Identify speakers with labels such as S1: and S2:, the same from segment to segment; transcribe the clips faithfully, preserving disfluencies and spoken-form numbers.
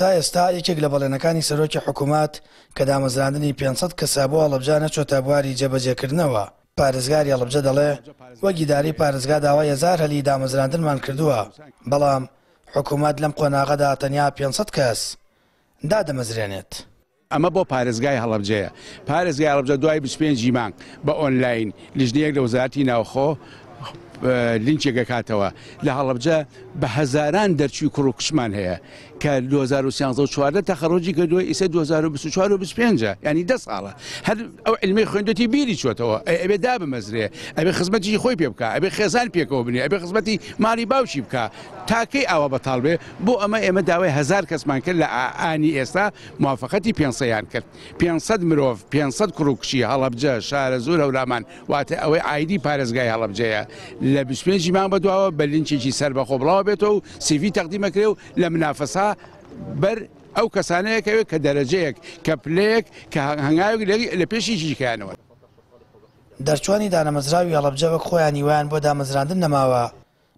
S1: تا ئێستا یەکێک لە بەڵێنەکانی سەرۆکی حکوومەت کە دامەزراندنی پێنج سەد کەسە بۆ هەڵەبجە نەچۆتە بواری جێبەجێکردنەوە. پارێزگاری هەڵەبجە دەڵێ وەک ئیدارەی پارێزگا داوای هەزار هەلی دامەزراندنمان کردووە، بەڵام حکوومەت لەم قۆناغەدا تەنیا پێنج سەد کەس دادەمەزرێنێت.
S2: ئەمە بۆ پارێزگای هەڵەبجەیە. پارێزگای هەڵەبجە دوای بیست و پێنج مانگ بە ئۆنلاین لیژنەیەک لە وەزارەتی ناوخۆ لینکێک ئەکاتەوە. لە هەڵەبجە بە هەزاران دەرچووی کوڕ و کچمان هەیە کە دوو هەزار و سیانزە و چواردە تەخەڕوجی کردووە، ئیسە دوو هەزار و بیست و چوار و بیست و پێنج، یعنی دە ساڵە هەر ئەو علمەی خوێندوێتی بیری چۆتەوە. ئەبێ دابمەزرێ، ئەبێ خزمەتی خۆی پێ بکا، ئەبێ خێزان پێکەوە بنێ، ئەبێ خزمەتی ماڵی باوکی بکا، تاکەی ئاوا بەتاڵ بێ. بۆ ئەمە ئێمە داوای هەزار کەسمان کرد لە ئانی ئێستا موافقەتی پێنج سەدیان کرد. پێنج سەد مرۆڤ، پێنج سەد کوڕ و کچی هەڵەبجە، شارەزوور، هەورامان، واتە ئەوەی ئایدی پارێزگای هەڵەبجەیە لە بیست و پێنج مانگ بەدواوە بە لینکێکی سەربەخۆ بڵاوە بێتەوە و سیڤی تەقدیمەکرێ و لە منافەسا بەر ئەو کەسانەیەکەوێت کە دەرەجەیەک، کە پلەیەک، کە هەنگاوێک لە پێشی جیکیانەوە.
S1: دەرچوانی دانەمەزراوی هەڵەبجە وەک خۆیان هیوایان بۆ دامەزراندن نەماوە،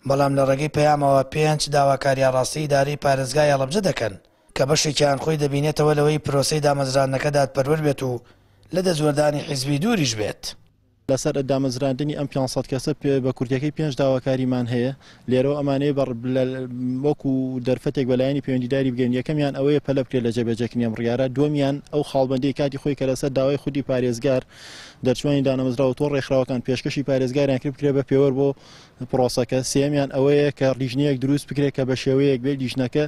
S1: بەڵام لە ڕێگەی پەیامەوە پێنج داواکاری ئاڕاستەی ئیدارەی پارێزگای هەڵەبجە دەکەن کە بەشێکیان خۆی دەبینێتەوە لەوەی پرۆسەی دامەزراندنەکە دادپەروەر بێت و لە دەستوەردانی حیزبی دووریش بێت.
S3: لەسەر دامەزراندنی ئەم پێنج سەد کەسە بە کورتەکەی پێنج داواکاریمان هەیە. لێرەوە ئەمانەیە وەکو دەرفەتێک بەلایەنی پەیوەندیداری بگەین. یەکەمیان ئەوەیە پەلە بکرێت لە جێبەجێکردنی ئەم بڕیارە. دووەمیان ئەو خاڵبەندەی کاتی خۆی کە لەسەر داوای خودی پارێزگار دەرچوانی دانەمەزراوە تۆ ڕێکخراوەکان پێشکەشی پارێزگاریان کرد بکرێت بە پێوەر بۆ پرۆسەکە. سێمیان ئەوەیە کە لیژنەیەک دروست بکرێت کە بە شێوەیەک بێت لیژنەکە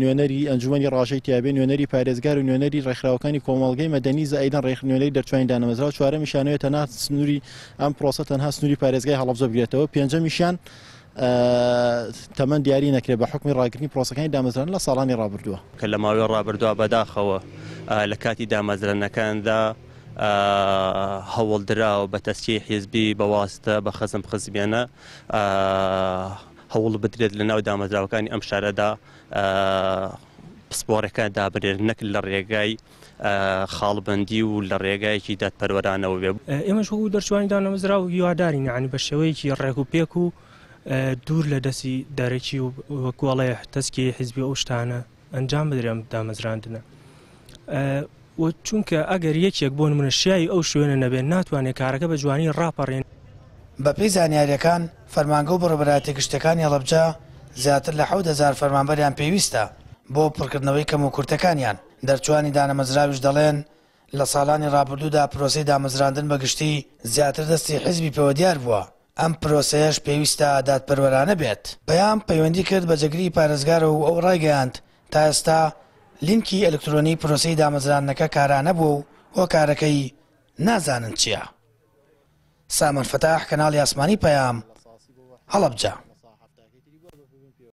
S3: نوێنەری ئەنجومەنی ڕاژەی تیابێ، نوێنەری پارێزگار و نوێنەری ڕێکخراوەکانی کۆمەڵگەی مەدەنی زائیدەن ڕێک نوێنەری دەرچوانی دانەمەزراوە. چوارەمیشانەوەی تەنها سنووری ئەم پرۆسە تەنها سنووری پارێزگای هەڵەبجە بگرێتەوە. پێنجەمیشیان تەمەن دیاری نەکرێت بە حکمی ڕاگرتنی پرۆسەکانی دامەزراندن لە ساڵانی ڕابردووە.
S4: کە لە ماوەی ڕابردووە بەداخەوە لە کاتی دامەزراندنەکاندا هەوڵدراوە بە تەسکیەی حیزبی بە واستە بە خەزم خزمیانە هەوڵ بدرێت لە ناو دامەزراوەکانی ئەم شارەدا پسپۆڕەکان دابنێت، نەک لە ڕێگای خاڵبەندی و لە ڕێگایەکی دادپەروەرانەوە بێ.
S5: ئێمەش وەکو دەرچوانی دانەمەزراو هیوادارین یعنی بە شێوەیەکی ڕێک و پێک و دوور لە دەستی دەرەکی و وەکوڵێ تەسکی حیزبی ئەو شتانە ئەنجام بدرێن دامەزراندنە. و چونکە ئەگەر یەکێک بۆ نمونە شیاوی ئەو شوێنە نەبێت ناتوانێت کارەکە بە جوانی ڕاپەڕێن.
S1: بەپێی زانیاریەکان فەرمانگە و بەڕێوەبەرایەتیە گشتیەکانی هەڵەبجە زیاتر لە حەوت هەزار فەرمانبەریان پێویستە بۆ پڕکردنەوەی کەم و کورتەکانیان. دەرچوانی دانەمەزراویش دەڵێن لە ساڵانی ڕابردوودا پرۆسەی دامەزراندن بەگشتی زیاتر دەستی حیزبی پێوە دیار بووە. ئەم پرۆسەیەش پێویستە دادپەروەرانە بێت. پەیام پەیوەندی کرد بە جێگری پارێزگار و ئەو ڕایگەیاند تا ئێستا لینکی ئەلکترۆنی پرۆسەی دامەزراندنەکە کارانە بوو و هۆکارەکەی نازانن چییە. سامان فەتاح، کەناڵی ئاسمانی پەیام، هەڵەبجە.